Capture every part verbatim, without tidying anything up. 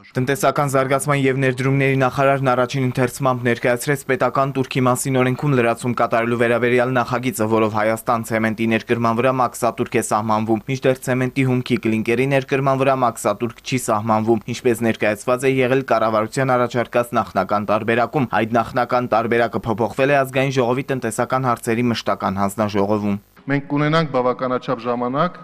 Տնտեսական զարգացման և ներդրումների նախարարն առաջին ընթերցմամբ ներկայացրեց պետական տուրքի մասին օրենքում լրացում կատարելու վերաբերյալ նախագիծը, որով Հայաստան ցեմենտի ներկրման վրա մաքսատուրք է սահմանվում, մինչդեռ ցեմենտի հումքի կլինկերի ներկրման վրա մաքսատուրք չի սահմանվում, ինչպես ներկայացված է եղել կառավարության առաջարկած նախնական տարբերակում։ Այդ նախնական տարբերակը փոփոխվել է ազգային ժողովի տնտեսական հարցերի մշտական հանձնաժողովում։ Մենք կունենանք բավականաչափ ժամանակ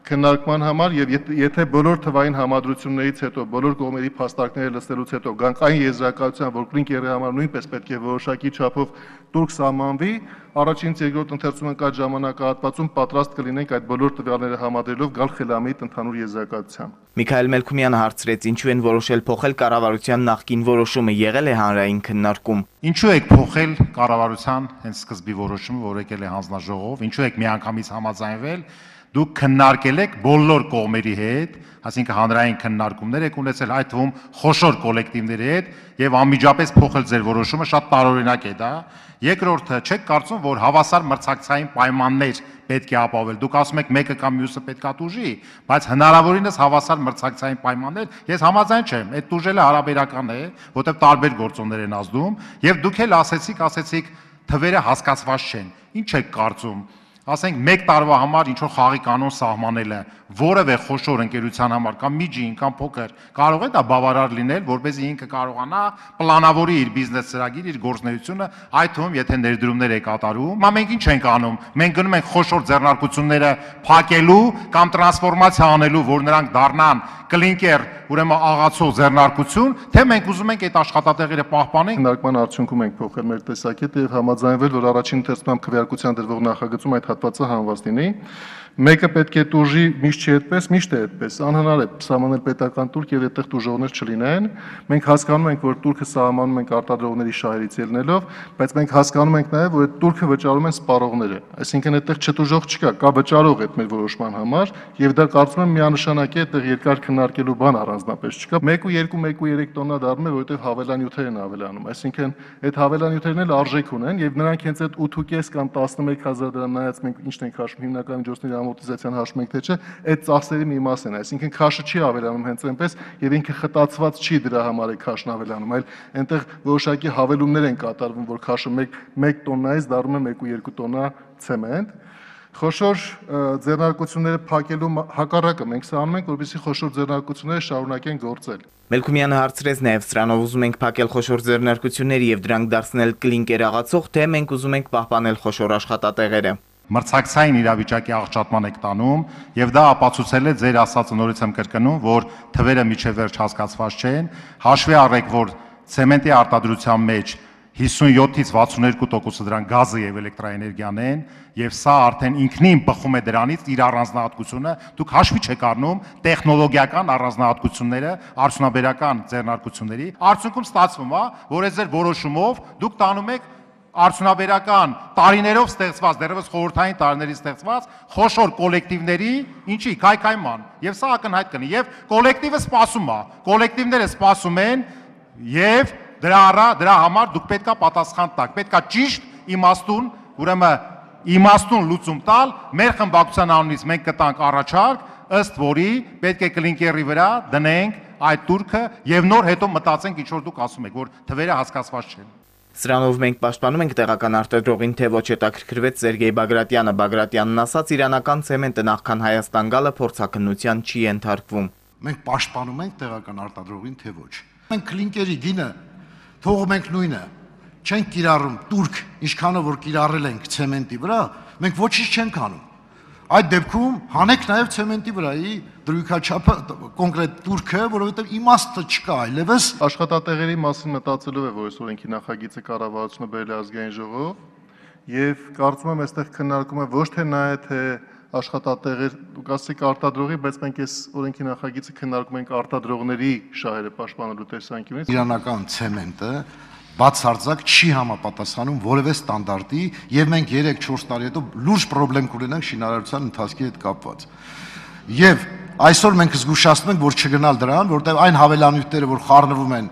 քննարկման համար եւ եթե բոլոր թվային համադրություններից հետո բոլոր կողմերի փաստարկները լսելուց հետո գանք այն եզրակացության, որ կլինկերի համար նույնպես պետք է որոշակի չափով տուրք սահմանվի, առաջինից երկրորդ ընթերցումը կայ ժամանակահատվածում պատրաստ կլինենք այդ բոլոր տվյալները համադրելով գալ խելամիտ ընդհանուր եզրակացության։ Միքայել Մելքումյանը հարցրեց, ինչու են որոշել փոխել կառավարության նախկին որոշումը, եղել է հանրային քննարկում։ Ինչու եք փոխել կառավարության հենց սկզբի որոշումը, որ եկել է հանձնաժողով, ինչու եք միանգամից համաձայնվել, դուք քննարկել եք բոլոր կողմերի հետ, այսինքն հանրային քննարկումներ եք ունեցել, այդ թվում խոշոր կոլեկտիվների հետ եւ անմիջապես փոխել ձեր որոշումը, շատ տարօրինակ է դա։ Երկրորդը, չեք կարծում, որ հավասար մրցակցային պայմաններ պետք է ապահովել։ Դուք ասում եք մեկը կամ մյուսը պետքա տուժի, բայց հնարավորինս հավասար մրցակցային պայմաններ, ես համաձայն չեմ, այդ տուժելը հարաբերական է, որտեղ տարբեր գործոններ են ազդում, եւ դուք էլ ասեցիք, ասեցիք թվերը հասկացված չեն։ Ինչ եք կարծում։ Ասենք մեկ տարվա համար ինչ որ խաղի կանոն սահմանելը որևէ խոշոր ընկերության համար կամ միջին կամ փոքր կարող է դա բավարար լինել, որպեսզի ինքը կարողանա պլանավորի իր բիզնես ծրագիր, իր գործունեությունը, այդ թվում եթե ներդրումներ է կատարում։ Հիմա մենք ինչ ենք անում։ Մենք գնում ենք խոշոր ձեռնարկությունները փակելու կամ տրանսֆորմացիա անելու, որ նրանք դառնան կլինկեր, ուրեմն աղացող ձեռնարկություն, թե մենք ուզում ենք այդ աշխատատեղերը պահպանենք։ Քննարկման արդյունքում ենք փոխել մեր տեսակետը եւ համաձայնվել, որ առաջին ընթերցման քվեարկության դրվող նախագծում այդ հատվածը հանված լինի։ Մեկը պետք է տուժի, միշտ չի այդպես, միշտ է այդպես։ Անհնար է սահմանել պետական տուրք եւ այդտեղ տուժողներ չլինեն։ Մենք հասկանում ենք, որ տուրքը սահմանում ենք արտադրողների շահերից ելնելով, բայց մենք հասկանում ենք նաեւ, որ այդ տուրքը վճարում են սպառողները։ Այսինքն այդտեղ չտուժող չկա, կա վճարող այդ մեր որոշման համար եւ դա կարծում եմ միանշանակ է, այդտեղ երկար քննարկելու բան առանձնապես չկա։ մեկ ու երկու, մեկ ու երեք տոննա դառնում է, որովհետեւ հավելանյութեր են ավելանում։ Այսինքն այդ հավելանյութերն էլ արժեք ունեն եւ նրանք հենց այդ ութ ու կես կամ տասնմեկ հազար դրամ նայած մենք ինչն ենք հաշվում հիմնական միջոցների ամորտիզացիան հաշվում ենք թե չէ, այդ ծախսերի մի մաս են, այսինքն քաշը չի ավելանում հենց այնպես եւ ինքը խտացված չի դրա համար է քաշն ավելանում, այլ այնտեղ որոշակի հավելումներ են կատարվում, որ քաշը մեկ տոննայից դառնում է մեկ ու երկու տոննա ցեմենտ։ Խոշոր ձեռնարկությունները փակելու հակառակը մենք սա անում ենք, որպեսզի խոշոր ձեռնարկությունները շարունակեն գործել։ Մելքումյանը հարցրեց նաև սրանով ուզում ենք փակել խոշոր ձեռնարկությունների եւ դրանք դարձնել կլինկեր աղացող, թե մենք ուզում ենք պահպանել խոշոր աշխատատեղերը։ Մրցակցային իրավիճակի աղճատման եք տանում եւ դա ապացուցել է ձեր ասածը նորից եմ կրկնում, որ թվերը միջև վերջ հասկացված չեն, հաշվի առեք, որ ցեմենտի արտադրության մեջ հիսունյոթից վաթսունյոթ տոկոսը դրան գազը եւ էլեկտրաէներգիան են եւ սա արդեն ինքնին բխում է դրանից իր առանձնահատկությունը, դուք հաշվի չեք առնում տեխնոլոգիական առանձնահատկությունները արդյունաբերական ձեռնարկությունների, արդյունքում ստացվում է, որ այս ձեր որոշումով դուք տանում եք արդյունաբերական տարիներով ստեղծված, դեռևս խորհրդային տարիներից ստեղծված խոշոր կոլեկտիվների, ինչի քայքայման, եւ սա ակնհայտ կնի, եւ կոլեկտիվը սպասում է, կոլեկտիվները սպասում են եւ դրա առա դրա համար դուք պետքա պատասխան տաք, պետքա ճիշտ իմաստուն, ուրեմն իմաստուն լուծում տալ, մեր խմբակցության անունից մենք կտանք առաջարկ, ըստ որի պետք է կլինկերի վրա դնենք այդ տուրքը եւ նոր հետո մտածենք ինչ որ դուք ասում եք, որ թվերը հասկացված չեն։ Սրանով մենք պաշտպանում ենք տեղական արտադրողին, թե ոչ, հետաքրքրվեց Սերգեյ Բագրատյանը։ Բագրատյանն ասաց, իրանական ցեմենտը նախքան Հայաստան գալը փորձաքննության չի ենթարկվում։ Մենք պաշտպանում ենք տեղական արտադրողին, թե ոչ։ Մենք կլինկերի գինը թողում ենք նույնը, չենք կիրառում տուրք, ինչքանով որ կիրառել ենք ցեմենտի վրա, մենք ոչինչ չենք անում։ Այդ դեպքում հանեք նաև ցեմենտի վրայի դրույքաչափը կոնկրետ տուրքը, որովհետև իմաստը չկա այլևս։ Աշխատատեղերի մասին մտածելով է, որ այս օրենքի նախագիծը կառավարությունը բերել է ազգային ժողով, եւ կարծում եմ այստեղ քննարկումը ոչ թե նա է, թե աշխատատեղեր, դուք ասեք արտադրողի, բայց մենք այս օրենքի նախագիծը քննարկում ենք արտադրողների շահերը պաշտպանելու տեսանկյունից։ Իրանական ցեմենտը բացարձակ չի համապատասխանում որևէ ստանդարտի եւ մենք երեք-չորս տարի հետո լուրջ խնդրեմ կունենանք շինարարության ընթացքի հետ կապված։ Եվ այսօր մենք զգուշացնում ենք, որ չգնալ դրան, որտեղ այն հավելանյութերը, որ խառնվում են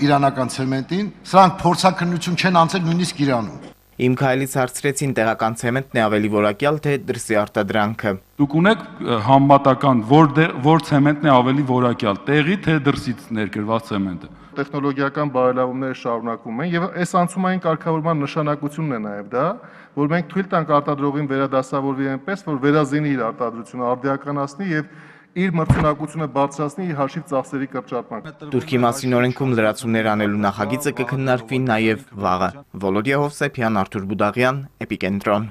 իրանական ցեմենտին, սրանք փորձաքննություն չեն անցել նույնիսկ Իրանում։ Իմ քայլից հարցրեցին տեղական ցեմենտն է ավելի որակյալ, թե դրսի արտադրանքը։ Դուք ունեք համեմատական, որ որ ցեմենտն է ավելի որակյալ, տեղի թե դրսից ներկրված ցեմենտը։ Տեխնոլոգիական բարելավումները շարունակվում են եւ այս անցումային կարգավորման նշանակությունն է նաեւ դա, որ մենք թույլ տանք արտադրողին վերադասավորվի այնպես, որ վերազինի իր արտադրությունը, արդիականացնի եւ իր մրցունակությունը բարձրացնի իր հաշիվ ծախսերի կրճատման։ Թուրքի մասին օրենքում լրացումներ անելու նախագիծը կքննարկվի նաև վաղը։ Վոլոդիա Հովսեփյան, Արթուր Բուդաղյան, Էպիկենտրոն։